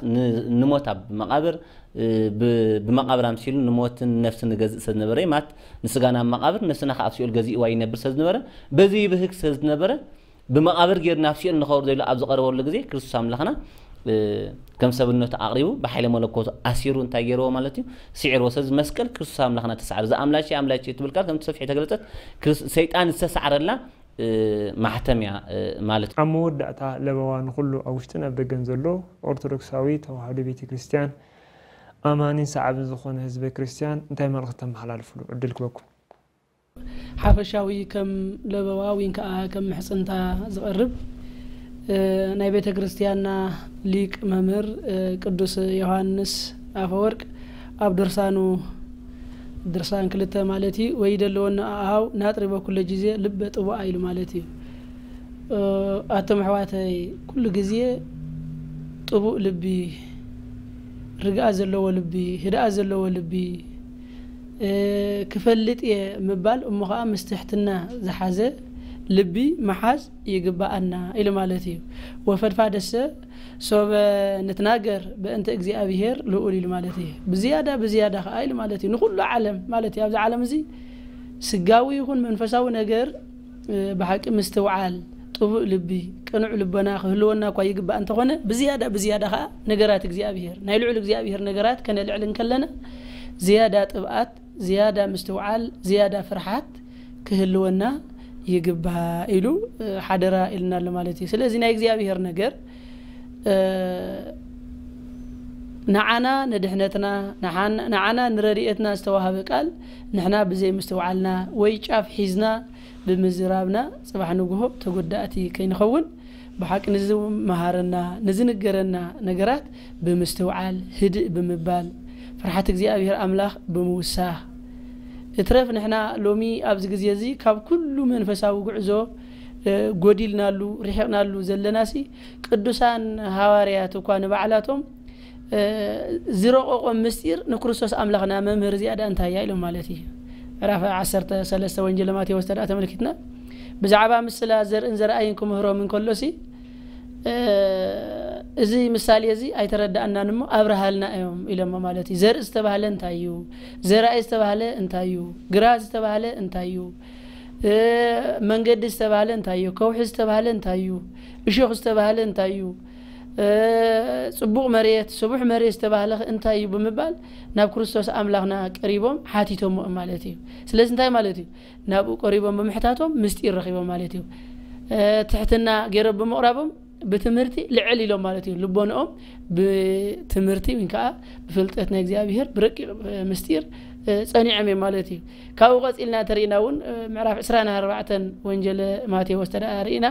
ንሞት ኣብ መቓብር ብመቓብር ኣምሲሉ ንሞትን ነፍስን ንገዝእ ሰብ ዝነበረ ማለት ንስጋና ኣብ መቓብር ነፍስና ከዓ ኣብ ሲኦል ገዚእዋ ይነብር ሰብ ዝነበረ በዚ ይብህግ ሰብ ዝነበረ ብመቓብር ገይሩ ናብ ሲኦል ንኸውርዶ ኢሉ ኣብ ዝቐረበሉ ግዜ ክርስቶስ ኣምላኽና ከም ሰብነቱ ኣቕሪቡ ብሓይለ መለኮቱ ኣሲሩ እንታይ ገይርዎ ማለት እዩ? ስዒርዎ። ስለዚ መስቀል ክርስቶስ ኣምላኽና ተሳዕረ። እዛ ኣምላኬ ኣምላኬ ትብል ቃል ከምቲ ሰፊሕ የተገለጸት ሰይጣን ዝተሳዕረላ ማሕተም እያ ማለት እዩ። ኣብ መወዳእታ ለበዋ ንኹሉ ኣብ ውሽጥን ኣብ ደገን ዘሎ ኦርቶዶክሳዊ ተዋህዶ ቤተ ክርስቲያን ኣማኒን ሰዓብን ዝኾነ ህዝበ ክርስቲያን እንታይ መልእኽቲ ተመሓላልፍሉ ዕድል ክበኩም? ሓፈሻዊ ከም ለበዋ ወይን ከዓ ከም ምሕፅንታ ዝቐርብ ናይ ቤተ ክርስቲያንና ሊቅ መምህር ቅዱስ ዮሃንስ ኣፈወርቅ ኣብ ድርሳኑ ድርሳን ክልተ ማለት እዩ ወይ ደለወና ኣሃው ናጥሪ በኩለ ጊዜ ልበ ጥቡኣ ኢሉ ማለት እዩ። ኣቶም ኣሕዋተይ ኩሉ ግዜ ጥቡእ ልቢ ርግኣ ዘለዎ ልቢ ህድኣ ዘለዎ ልቢ ክፈልጥ እየ ምባል እሞ ከዓ ምስ ትሕትና ዝሓዘ ልቢ ምሓዝ ይግበኣና ኢሉ ማለት እዩ። ወፈድፋደሰ ሶበ ንትናገር በእንተ እግዚኣብሔር ልኡል ኢሉ ማለት እዩ። ብዝያዳ ብዝያዳ ከዓ ኢሉ ማለት እዩ። ንኩሉ ዓለም ማለት እዩ። ኣብዚ ዓለም እዚ ስጋዊ ይኹን መንፈሳዊ ነገር ብሓቂ ምስትውዓል፣ ጥቡእ ልቢ፣ ቅኑዕ ልቦና ክህልወና እኳ ይግባእ እንተኾነ ብዝያዳ ብዝያዳ ከዓ ነገራት እግዚኣብሔር ናይ ልዑል እግዚኣብሔር ነገራት ከነልዕል እንከለና ዝያዳ ጥብኣት፣ ዝያዳ ምስትውዓል፣ ዝያዳ ፍርሓት ክህልወና ይግባእ ኢሉ ሓደራ ኢልና ኣሎ ማለት እዩ። ስለዚ ናይ እግዚኣብሔር ነገር ንዓና ንድሕነትና ንዓና ንረድኤትና ዝተዋሃበ ቃል ንሕና ብዘይ ምስትውዓልና ወይ ጫፍ ሒዝና ብምዝራብና ጽባሕ ንግሆ ተጎዳእቲ ከይንኸውን ብሓቂ ንዝመሃረና ንዝንገረና ነገራት ብምስትውዓል ህድእ ብምባል ፍርሓት እግዚኣብሔር ኣምላኽ ብምውሳኽ እትረፍ ንሕና ሎሚ ኣብዚ ግዜ እዚ ካብ ኩሉ መንፈሳዊ ጉዕዞ ጎዲልናሉ ርሒቕናሉ ዘለናሲ ቅዱሳን ሃዋርያት እኳ ንባዕላቶም ዝረቐቖም ምስጢር ንክርስቶስ ኣምላኽና መምህር እዚኣ ዳ እንታይ እያ ኢሎም ማለት እዩ። ምዕራፍ ዓሰርተ ሰለስተ ወንጌል ማቴዎስ ተዳ ተመልኪትና ብዛዕባ ምስላ ዘርእን ዘርኣይን ክምህሮም እንከሎሲ እዚ ምሳሌ እዚ ኣይተረዳእናን እሞ ኣብርሃልና እዮም ኢሎሞ ማለት እዩ። ዘርኢ ዝተባህለ እንታይ እዩ? ዘርኣይ ዝተባህለ እንታይ እዩ? ግራት ዝተባህለ እንታይ እዩ? መንገዲ ዝተባህለ እንታይ እዩ? ከውሒ ዝተባህለ እንታይ እዩ? እሾኽ ዝተባህለ እንታይ እዩ? ጽቡቕ መሬት፣ ስቡሕ መሬት ዝተባህለ እንታይ እዩ ብምባል ናብ ክርስቶስ ኣምላኽና ቀሪቦም ሓቲቶሞ ማለት እዩ። ስለዚ እንታይ ማለት እዩ? ናብኡ ቀሪቦም ብምሕታቶም ምስጢር ረኺቦም ማለት እዩ። ትሕትና ገይሮም ብምቕራቦም ብትምህርቲ ልዕል ኢሎም ማለት እዩ። ልቦንኦም ብትምህርቲ ወይ ከዓ ብፍልጠት ናይ እግዚኣብሔር ብረቂቕ ምስጢር ጸኒዖም እዮም ማለት እዩ። ካብኡ ቀጺልና እንተሪእና እውን ምዕራፍ ዕስራን ኣርባዕተን ወንጀለ ማቴዎስ ተደኣ ርኢና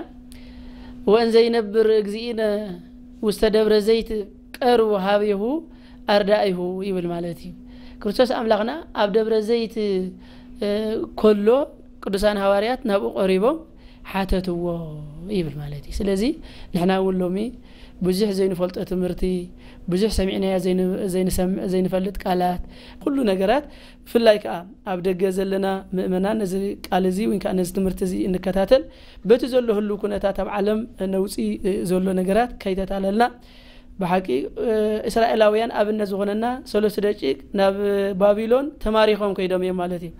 ወእን ዘይነብር እግዚእነ ውስተ ደብረ ዘይት ቀርቡ ሃቤሁ ኣርዳኢሁ ይብል ማለት እዩ። ክርስቶስ ኣምላኽና ኣብ ደብረ ዘይት ከሎ ቅዱሳን ሃዋርያት ናብኡ ቀሪቦም ሓተትዎ ይብል ማለት እዩ። ስለዚ ንሕና እውን ሎሚ ብዙሕ ዘይንፈልጦ ትምህርቲ ብዙሕ ሰሚዕናዮ ዘይንፈልጥ ቃላት ኩሉ ነገራት ብፍላይ ከዓ ኣብ ደገ ዘለና ምእመናን ነዚ ቃል እዚ ወይ ከዓ ነዚ ትምህርቲ እዚ እንከታተል በቲ ዘሎ ህሉ ኩነታት ኣብ ዓለም ነውፂ ዘሎ ነገራት ከይተታለልና ብሓቂ እስራኤላውያን ኣብነት ዝኾነና ሰለስቱ ደቂቅ ናብ ባቢሎን ተማሪኾም ከይዶም እዮም ማለት እዩ።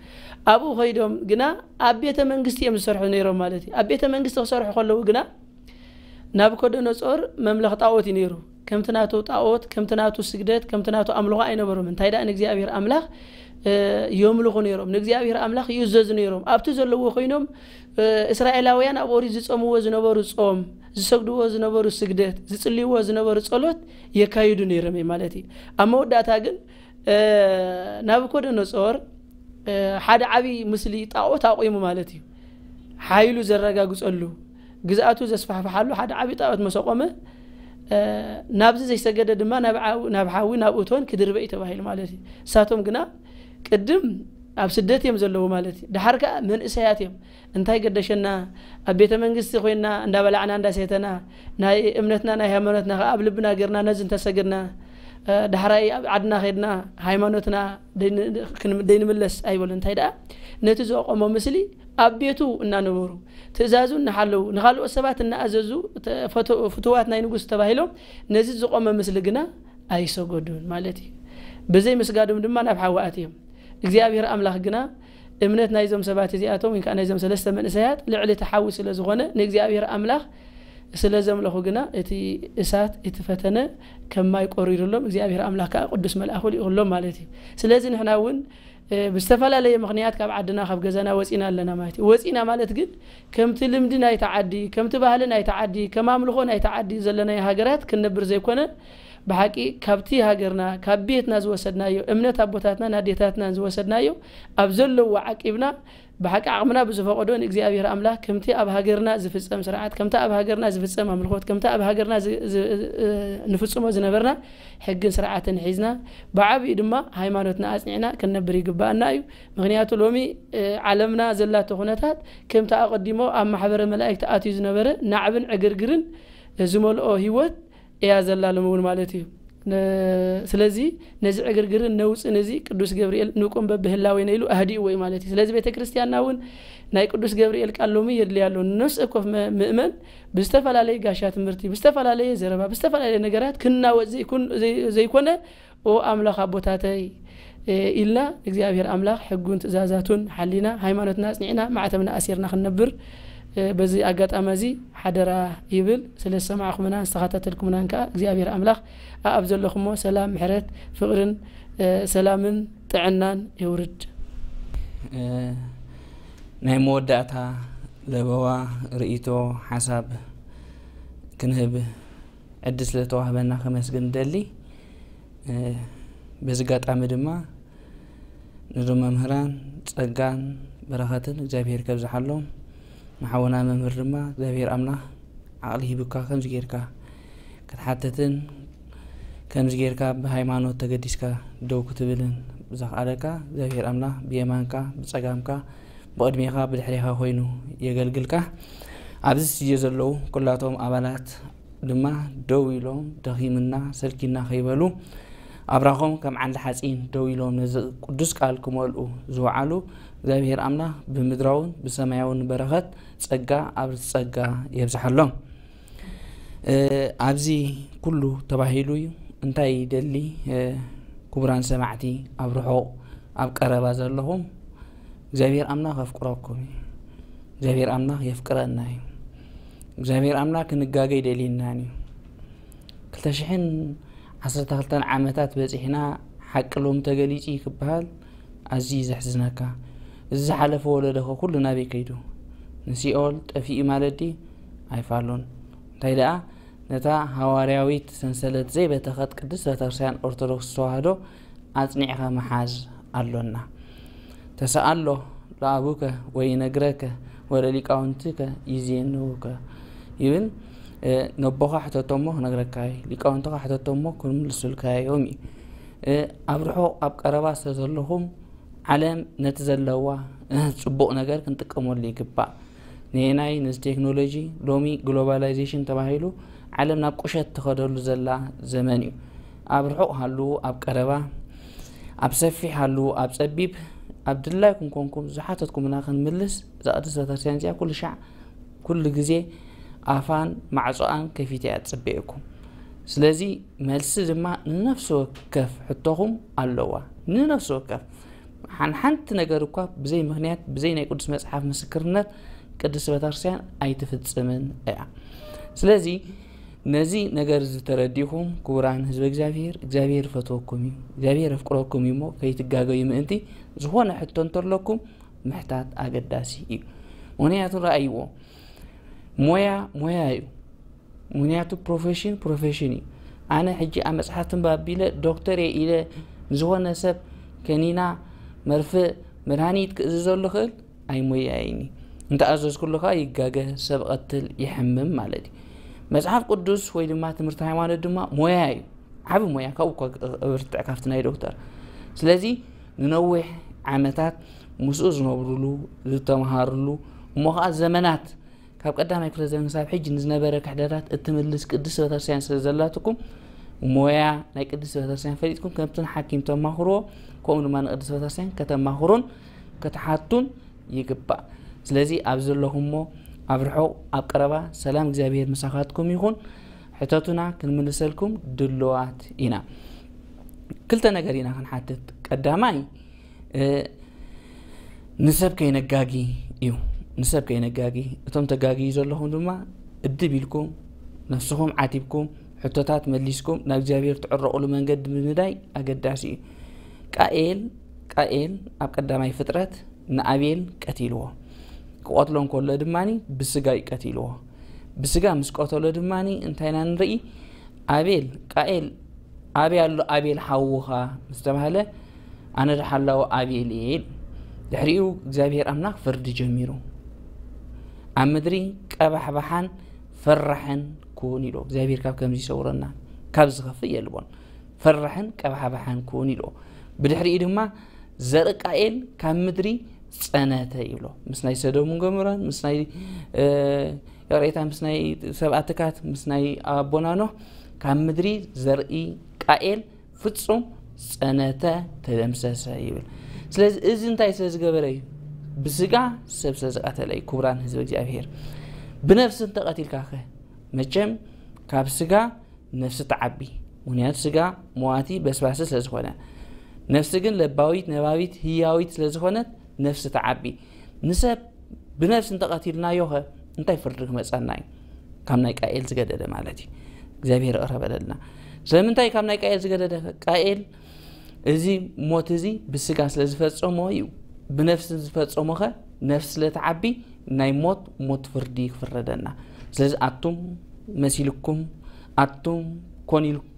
ኣብኡ ከይዶም ግና ኣብ ቤተ መንግስቲ እዮም ዝሰርሑ ነይሮም ማለት እዩ። ኣብ ቤተ መንግስቲ ክሰርሑ ከለዉ ግና ናብኮደነጾር መምለኽ ጣዖት እዩ ነይሩ። ከምቲ ናቱ ጣዖት ከምቲ ናቱ ስግደት ከምቲ ናቱ ኣምልኾ ኣይነበሮም። እንታይ ደኣ ንእግዚኣብሔር ኣምላኽ የምልኹ ነይሮም። ንእግዚኣብሔር ኣምላኽ ይእዘዙ ነይሮም። ኣብቲ ዘለዎ ኮይኖም እስራኤላውያን ኣብ ኦሪት ዝጸምዎ ዝነበሩ ጾም ዝሰግድዎ ዝነበሩ ስግደት ዝጽልይዎ ዝነበሩ ጸሎት የካይዱ ነይሮም ማለት እዩ። ኣብ መወዳእታ ግን ናብኮደነጾር ሓደ ዓብዪ ምስሊ ጣዖት ኣቑሙ ማለት እዩ። ሓይሉ ዘረጋግጸሉ ግዝኣቱ ዘስፋሕፍሓሉ ሓደ ዓብዪ ጣዖት መሰቆመ ናብዚ ዘይሰገደ ድማ ናብ ሓዊ ናብ እቶን ክድርበ እዩ ተባሂሉ ማለት እዩ። እሳቶም ግና ቅድም ኣብ ስደት እዮም ዘለዉ ማለት እዩ። ድሓር ከዓ መንእሰያት እዮም። እንታይ ገደሸና ኣብ ቤተ መንግስቲ ኮይና እንዳበላዕና እንዳሴተና ናይ እምነትና ናይ ሃይማኖትና ከዓ ኣብ ልብና ገርና ነዚ እንተሰግድና ዳሕራይ ኣብ ዓድና ከድና ሃይማኖትና ደይንምለስ ኣይበሉ እንታይ ደኣ ነቲ ዘቆሞ ምስሊ ኣብ ቤቱ እናነበሩ ትእዛዙ እናሓለዉ ንኻልኦት ሰባት እናኣዘዙ ፍቱዋት ናይ ንጉስ ተባሂሎም ነዚ ዝቆመ ምስሊ ግና ኣይሰገዱን ማለት እዩ። ብዘይ ምስጋዶም ድማ ናብ ሓዊ ኣትዮም። እግዚኣብሔር ኣምላኽ ግና እምነት ናይዞም ሰባት እዚኣቶም ወይ ከዓ ናይዞም ሰለስተ መንእሰያት ልዕሊ እቲ ሓዊ ስለ ዝኾነ ንእግዚኣብሔር ኣምላኽ ስለ ዘምለኹ ግና እቲ እሳት እቲ ፈተነ ከም ማይ ቆሪሩሎም እግዚኣብሔር ኣምላኽ ከዓ ቅዱስ መልኣኹ ልኢኹሎም ማለት እዩ። ስለዚ ንሕና እውን ብዝተፈላለየ ምኽንያት ካብ ዓድና ካብ ገዛና ወፂና ኣለና ማለት እዩ። ወፂና ማለት ግን ከምቲ ልምዲ ናይቲ ዓዲ ከምቲ ባህሊ ናይቲ ዓዲ ከም ኣምልኾ ናይቲ ዓዲ ዘለናዮ ሃገራት ክንነብር ዘይኮነ ብሓቂ ካብቲ ሃገርና ካብ ቤትና ዝወሰድናዮ እምነት ኣቦታትናን ኣዴታትናን ዝወሰድናዮ ኣብ ዘለዎ ዓቂብና ብሓቂ ዓቕምና ብዝፈቐዶ ንእግዚኣብሔር ኣምላኽ ከምቲ ኣብ ሃገርና ዝፍጸም ስርዓት ከምቲ ኣብ ሃገርና ዝፍጸም ኣምልኾት ከምቲ ኣብ ሃገርና ንፍጽሞ ዝነበርና ሕግን ስርዓትን ሒዝና ብዓብዩ ድማ ሃይማኖትና ኣጽኒዕና ክንነብር ይግባኣና እዩ። ምኽንያቱ ሎሚ ዓለምና ዘላቶ ኩነታት ከምቲ ኣቐዲሞ ኣብ ማሕበረ መላእክቲ ኣትዩ ዝነበረ ናዕብን ዕግርግርን ዝመልኦ ህይወት እያ ዘላ ሎሚ እውን ማለት እዩ። ስለዚ ነዚ ዕግርግርን ነውፅን እዚ ቅዱስ ገብርኤል ንቁም በብህላዌነ ኢሉ ኣህዲእዎ እዩ ማለት እዩ። ስለዚ ቤተ ክርስቲያንና እውን ናይ ቅዱስ ገብርኤል ቃል ሎሚ የድልያ ኣሎ። ነፍሲ ወከፍ ምእመን ብዝተፈላለየ ጋሻ ትምህርቲ ብዝተፈላለየ ዘረባ ብዝተፈላለየ ነገራት ክናወፅ ዘይኮነ ኦ ኣምላኽ ኣቦታተይ ኢልና እግዚኣብሔር ኣምላኽ ሕጉን ትእዛዛቱን ሓሊና ሃይማኖትና ኣፅኒዕና ማዕተብና ኣሲርና ክንነብር በዚ ኣጋጣሚ እዚ ሓደራ ይብል። ስለ ዝሰማዕኩምናን ዝተኸታተልኩምናን ከዓ እግዚኣብሔር ኣምላኽ ኣብ ዘለኹሞ ሰላም ምሕረት ፍቕርን ሰላምን ጥዕናን የውርድ። ናይ መወዳእታ ለበዋ ርእይቶ ሓሳብ ክንህብ ዕድል ስለተዋህበና ከመስግን ደሊ። በዚ ኣጋጣሚ ድማ ነዞም መምህራን ጸጋን በረኸትን እግዚኣብሔር ከብዝሓሎም፣ ንሓውና መምህር ድማ እግዚኣብሔር ኣምላኽ ዓቕሊ ሂብካ ከምዚ ጌርካ ክትሓትትን ከምዚ ጌርካ ብሃይማኖት ተገዲስካ ደው ክትብልን ዘኽኣለካ እግዚኣብሔር ኣምላኽ ብየማንካ ብጸጋምካ ብቕድሜኻ ብድሕሬኻ ኮይኑ የገልግልካ። ኣብዚ ስቱድዮ ዘለዉ ኩላቶም ኣባላት ድማ ደው ኢሎም ደኺምና ሰልኪና ከይበሉ ኣብራኾም ከም ዓንዲ ሓፂን ደው ኢሎም ነዚ ቅዱስ ቃል ክመልኡ ዝወዓሉ እግዚኣብሔር ኣምላኽ ብምድራውን ብሰማያውን በረኸት ጸጋ ኣብ ጸጋ የብዝሓሎም። ኣብዚ ኩሉ ተባሂሉ እዩ። እንታይ ይደሊ ክቡራን ሰማዕቲ ኣብ ርሑቕ ኣብ ቀረባ ዘለኹም እግዚኣብሔር ኣምላኽ ኣፍቅረኩም እዩ። እግዚኣብሔር ኣምላኽ የፍቅረና እዩ። እግዚኣብሔር ኣምላኽ ክንጋገ ይደልየናን እዩ። ክልተ ሽሕን ዓሰርተ ክልተን ዓመታት በፂሕና ሓቂ ሎሚ ተገሊፁ እዩ ክበሃል ኣዝዩ እዩ ዘሕዝነካ። እዚ ዝሓለፈ ወለዶ ኸ ኩሉ ናበይ ከይዱ? ንሲኦል ጠፊኡ ማለት ድዩ? ኣይፋሉን። እንታይ ደኣ ነታ ሃዋርያዊት ሰንሰለት ዘይበተኸት ቅድስት ቤተክርስትያን ኦርቶዶክስ ተዋህዶ ኣጽኒዕኻ ምሓዝ ኣሎና። ተሰኣሎ ለኣቡከ ወይነግረከ ወለሊቃውንትከ ይዜንውከ ይብል። ነቦኻ ሕተቶሞ ክነግረካ እዩ፣ ሊቃውንትኻ ሕተቶሞ ክምልሱልካ እዮም እዩ። ኣብ ርሑቕ ኣብ ቀረባ ስለ ዘለኹም ዓለም ነቲ ዘለዋ ጽቡቕ ነገር ክንጥቀመሉ ይግባእ። ንየናይ ነዚ ቴክኖሎጂ ሎሚ ግሎባላይዜሽን ተባሂሉ ዓለም ናብ ቁሸት ትኸደሉ ዘላ ዘመን እዩ። ኣብ ርሑቕ ሃሉ ኣብ ቀረባ ኣብ ሰፊሕ ሃሉ ኣብ ጸቢብ ኣብ ድላይኩም ኮንኩም ዝሓተትኩምና ክንምልስ እዛ ቅድስት ቤተክርስትያን እዚኣ ኩሉ ሻዕ ኩሉ ግዜ ኣፋን ማዕጾኣን ከፊተ እያ ትጽበየኩም። ስለዚ መልሲ ድማ ንነፍሲ ወከፍ ሕቶኹም ኣለዋ። ንነፍሲ ወከፍ ሓንሓንቲ ነገር እኳ ብዘይ ምኽንያት ብዘይ ናይ ቅዱስ መጽሓፍ ምስክርነት ቅድስት ቤተክርስትያን ኣይትፍጽምን እያ። ስለዚ ነዚ ነገር እዚ ተረዲእኹም ክቡራን ህዝበ እግዚኣብሔር እግዚኣብሔር ይፈትወኩም እዩ፣ እግዚኣብሔር የፍቅረኩም እዩ እሞ ከይትጋገዩ ምእንቲ ዝኾነ ሕቶ እንተለኩም ምሕታት ኣገዳሲ እዩ። ምኽንያቱ ረኣይዎ ሞያ ሞያ እዩ። ምኽንያቱ ፕሮፌሽን ፕሮፌሽን እዩ። ኣነ ሕጂ ኣብ መፅሓፍ ትንባብ ቢለ ዶክተር እየ ኢለ ንዝኾነ ሰብ ከኒና መርፍእ መድሃኒት ክእዝዘሉ ክእል ኣይሞያይኒ። እንተኣዘዝኩሉ ከዓ ይጋገ ሰብ ቐትል ይሕምም ማለት እዩ። መፅሓፍ ቅዱስ ወይ ድማ ትምህርቲ ሃይማኖት ድማ ሞያ እዩ። ዓብ ሞያ ካብኡ እኳ እብርትዕ ካብቲ ናይ ዶክተር። ስለዚ ንነዊሕ ዓመታት ምስኡ ዝነብሩሉ ዝተምሃሩሉ እሞ ከዓ ዘመናት ካብ ቀዳማይ ክፍለ ዘመን ክሳብ ሕጂ ንዝነበረ ክሕደታት እትምልስ ቅድስት ቤተክርስትያን ስለ ዘላትኩም ሞያ ናይ ቅድስት ቤተክርስትያን ፈሊጥኩም ከምቲ ንሓኪም ተማኽርዎ ከምኡ ድማ ንቅድስት ቤተክርስትያን ከተማኽሩን ክትሓቱን ይግባእ። ስለዚ ኣብ ዘለኹሞ ኣብ ርሑቕ ኣብ ቀረባ ሰላም እግዚኣብሔር ምሳኻትኩም ይኹን። ሕተቱና ክንምልሰልኩም ድልዋት ኢና። ክልተ ነገር ኢና ክንሓትት። ቀዳማይ ንሰብ ከይነጋጊ እዩ። ንሰብ ከይነጋጊ፣ እቶም ተጋጊዩ ዘለኹም ድማ እድብ ኢልኩም ነፍስኹም ዓቲብኩም ሕቶታት መሊስኩም ናብ እግዚኣብሔር ትዕረቑሉ መንገዲ ምንዳይ ኣገዳሲ እዩ። ቃኤል ቃኤል ኣብ ቀዳማይ ፍጥረት ንኣቤል ቀቲልዎ፣ ክቐትሎ እንከሎ ድማ ብስጋ እዩ ቀቲልዎ። ብስጋ ምስ ቀተሎ ድማ እንታይ ኢና ንርኢ? ኣቤል ቃኤል ኣበይ ኣሎ ኣቤል ሓውኻ ምስ ተባህለ ኣነ ደሓላዊ ኣቤል እየ ኢሉ። ድሕሪኡ እግዚኣብሔር ኣምላኽ ፍርዲ ጀሚሩ። ኣብ ምድሪ ቀባሕባሓን ፈራሕን ኩን ኢሉ። እግዚኣብሔር ካብ ከምዚ ይሰውረና፣ ካብ ዝኸፍእ የልቦን። ፈራሕን ቀባሕባሓን ኩን ኢሉ። ብድሕሪኡ ድማ ዘርኢ ቃኤል ካብ ምድሪ ጸነተ ይብሎ። ምስ ናይ ሰዶምን ገሞራን፣ ምስ ናይ ይቕሬታ፣ ምስ ናይ ሰብኣትካት፣ ምስ ናይ ኣቦና ኖህ ካብ ምድሪ ዘርኢ ቃኤል ፍጹም ጸነተ፣ ተደምሰሰ ይብል። ስለዚ እዚ እንታይ ስለ ዝገበረ እዩ? ብስጋ ሰብ ስለ ዝቐተለ እዩ። ክቡራን ህዝቢ እግዚኣብሔር፣ ብነፍሲ እንተቐቲልካ ኸ? መቸም ካብ ስጋ ነፍሲ ትዓቢ። ምኽንያቱ ስጋ መዋቲ በስባሲ ስለ ዝኾነ፣ ነፍሲ ግን ለባዊት ነባቢት ህያዊት ስለ ዝኾነት ነፍሲ ትዓቢ። ንሰብ ብነፍሲ እንተቐቲልናዮ ኸ እንታይ ፍርዲ ክመጻና እዩ? ካብ ናይ ቃኤል ዝገደደ ማለት እዩ። እግዚኣብሔር ይቕረ በለልና። ስለምንታይ ካብ ናይ ቃኤል ዝገደደ? ቃኤል እዚ ሞት እዚ ብስጋ ስለ ዝፈጸሞ እዩ። ብነፍሲ ዝፈጸሞ ኸ ነፍሲ ስለ ትዓቢ ናይ ሞት ሞት ፍርዲ ክፍረደና። ስለዚ ኣቱም መሲልኩም፣ ኣቱም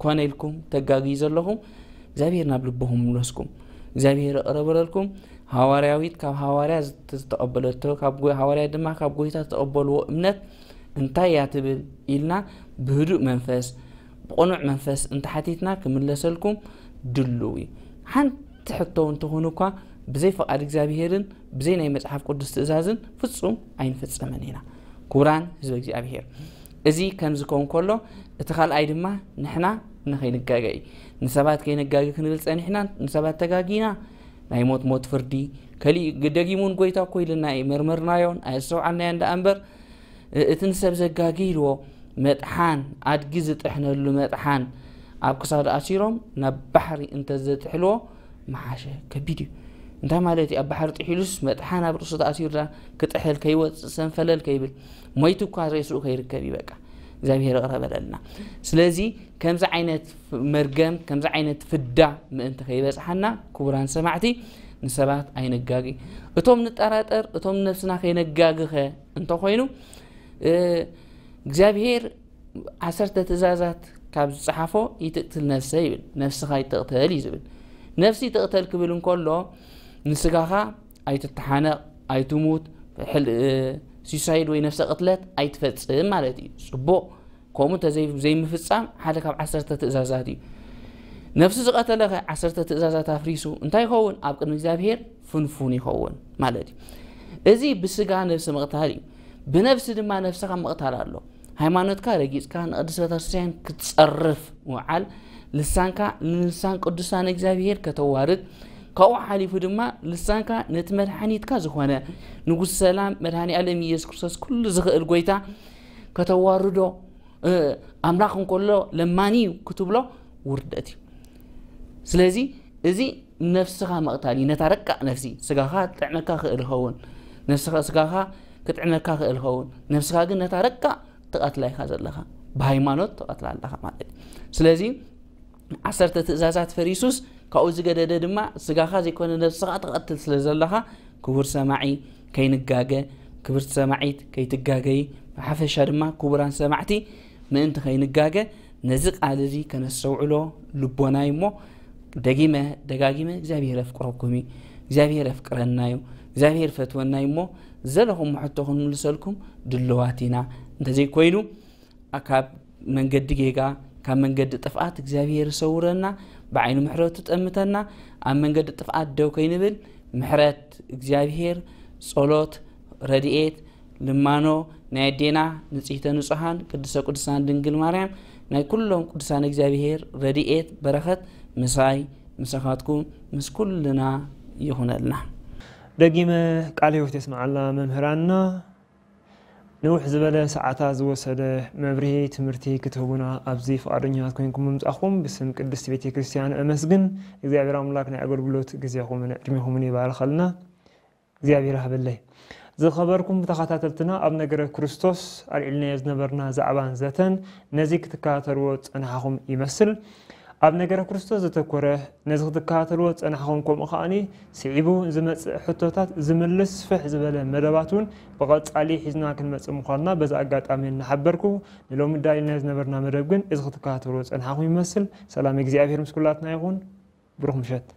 ኮነ ኢልኩም ተጋግዩ ዘለኹም እግዚኣብሔር ናብ ልብኹም ይምለስኩም። እግዚኣብሔር ይቕረ በለልኩም። ሃዋርያዊት ካብ ሃዋርያ ዝተቐበለቶ፣ ካብ ጎ- ሃዋርያ ድማ ካብ ጎይታ ዝተቐበልዎ እምነት እንታይ እያ ትብል ኢልና ብህዱእ መንፈስ ብቕኑዕ መንፈስ እንተሓቲትና ክምለሰልኩም ድሉው እዩ። ሓንቲ ሕቶ እውን ትኹን እኳ ብዘይ ፍቓድ እግዚኣብሔርን ብዘይ ናይ መጽሓፍ ቅዱስ ትእዛዝን ፍጹም ኣይንፍጸምን ኢና። ክቡራን ህዝቢ እግዚኣብሔር፣ እዚ ከምዚ ከውን ከሎ እቲ ካልኣይ ድማ ንሕና ንኸይንጋገ እዩ። ንሰባት ከይነጋጊ ክንብል ጸኒሕና ንሰባት ተጋጊና ናይ ሞት ሞት ፍርዲ ከሊእ ደጊሙን ጎይታ እኮ ኢልና እዩ መርመርናዮን ኣየስተውዓልናዮን ደኣ እምበር እቲ ንሰብ ዘጋጊ ኢልዎ መጥሓን ኣድጊ ዝጥሕነሉ መጥሓን ኣብ ክሳዱ ኣሲሮም ናብ ባሕሪ እንተዘጥሕልዎ ምሓሸ። ከቢድ እዩ። እንታይ ማለት እዩ? ኣብ ባሕሪ ጥሒሉስ መጥሓን ኣብ ርእሱ ተኣሲሩ ክጥሕል ከይወፅእ ሰንፈለል ከይብል ሞይቱ እኳ ሬስኡ ከይርከብ እዩ። በቃ እግዚኣብሔር ይቕረ በለልና። ስለዚ ከምዚ ዓይነት መርገም ከምዚ ዓይነት ፍዳ ምእንቲ ከይበፅሓና ክቡራን ሰማዕቲ ንሰባት ኣይነጋጊ። እቶም ንጠራጠር እቶም ነብስና ከይነጋግኸ እንተኾይኑ እግዚኣብሔር ዓሰርተ ትእዛዛት ካብ ዝፀሓፎ ይትቅትል ነፍሰ ይብል። ነፍስኻ ይትቅተል እዩ ዝብል። ነፍሲ ይትቅተል ክብል እንከሎ ንስጋኻ ኣይትተሓነቕ ኣይትሙት፣ ሲሳይድ ወይ ነፍሰ ቅትለት ኣይትፈፅም ማለት እዩ። ፅቡቕ። ከምኡ እንተዘይምፍፃም ሓደ ካብ ዓሰርተ ትእዛዛት እዩ። ነፍሲ ዝቐተለ ከ ዓሰርተ ትእዛዛት ኣፍሪሱ እንታይ ይኸውን? ኣብ ቅድሚ እግዚኣብሔር ፍንፉን ይኸውን ማለት እዩ። እዚ ብስጋ ነፍሲ ምቕታል እዩ። ብነፍሲ ድማ ነፍስኻ ምቕታል ኣሎ። ሃይማኖትካ ረጊፅካ ንቅድስት ቤተክርስትያን ክትፀርፍ ምውዓል፣ ልሳንካ ንልሳን ቅዱሳን እግዚኣብሔር ከተዋርድ፣ ካብኡ ሓሊፉ ድማ ልሳንካ ነቲ መድሓኒትካ ዝኾነ ንጉስ ሰላም መድሃኒ ኣለም ኢየሱስ ክርስቶስ ኩሉ ዝኽእል ጎይታ ከተዋርዶ፣ ኣምላኽ እንከሎ ለማኒ እዩ ክትብሎ ውርደት እዩ። ስለዚ እዚ ነፍስኻ መቕታል እዩ። ነታ ረቃቕ ነፍሲ ስጋኻ ጥዕመካ ክእል ይኸውን፣ ነፍስኻ ስጋኻ ክጥዕመካ ክእል ይኸውን፣ ነፍስኻ ግን ነታ ረቃቕ ትቐትላ ኢኻ ዘለኻ። ብሃይማኖት ትቐትላ ኣለኻ ማለት እዩ። ስለዚ ዓሰርተ ትእዛዛት ፈሪሱስ ካብኡ ዝገደደ ድማ ስጋኻ ዘይኮነ ነብስኻ ትቐትል ስለ ዘለኻ ክቡር ሰማዒ ከይንጋገ፣ ክብርቲ ሰማዒት ከይትጋገይ፣ ብሓፈሻ ድማ ክቡራን ሰማዕቲ ምእንቲ ከይንጋገ ነዚ ቃል እዚ ከነስተውዕሎ ልቦና እዩ እሞ ደጊመ ደጋጊመ እግዚኣብሔር የፍቅረኩም እዩ። እግዚኣብሔር የፍቅረና እዩ። እግዚኣብሔር ፈትወና እዩ እሞ ዘለኹም ሕቶ ክንምልሰልኩም ድልዋት ኢና። እንተዘይኮይኑ ካብ መንገዲ ጌጋ ካብ መንገዲ ጥፍኣት እግዚኣብሔር ይሰውረና፣ ብዓይኑ ምሕረቱ ጠምተና፣ ኣብ መንገዲ ጥፍኣት ደው ከይንብል ምሕረት እግዚኣብሔር፣ ጸሎት፣ ረድኤት፣ ልማኖ ናይ ኣዴና ንጽሕተ ንጹሓን ቅድስተ ቅዱሳን ድንግል ማርያም ናይ ኩሎም ቅዱሳን እግዚኣብሔር ረድኤት በረኸት ምሳይ ምሳኻትኩም ምስ ኩልና ይኹነልና። ደጊመ ቃለ ሕይወት የስምዓልና መምህራንና። ንውሕ ዝበለ ሰዓታት ዝወሰደ መብርሂ ትምህርቲ ክትህቡና ኣብዚ ፍቓደኛታት ኮይንኩም ምምጻኹም ብስም ቅድስቲ ቤተ ክርስቲያን እመስግን። እግዚኣብሔር ኣምላክ ናይ ኣገልግሎት ግዜኹምን ዕድሜኹምን ይባርኸልና። እግዚኣብሔር ሃበለይ። ዝኸበርኩም ተኸታተልትና፣ ኣብ ነገረ ክርስቶስ ኣልዒልናዮ ዝነበርና ዛዕባን ዘተን ነዚ ክትከታተልዎ ዝጸናሕኹም ይመስል። ኣብ ነገረ ክርስቶስ ዘተኮረ ነዚ ክትከታተልዎ ዝጸናሕኹም፣ ከምኡ ከኣኒ ስዒቡ ዝመጽእ ሕቶታት ዝምልስ ስፍሕ ዝበለ መደባት እውን ብቐጻሊ ሒዝና ክንመጽእ ምዃንና በዚ ኣጋጣሚ እናሓበርኩ፣ ንሎሚ ኣዳሊናዮ ዝነበርና መደብ ግን እዚ ክትከታተልዎ ዝጸናሕኹም ይመስል። ሰላም እግዚኣብሔር ምስ ኩላትና ይኹን። ብሩኽ ምሸት።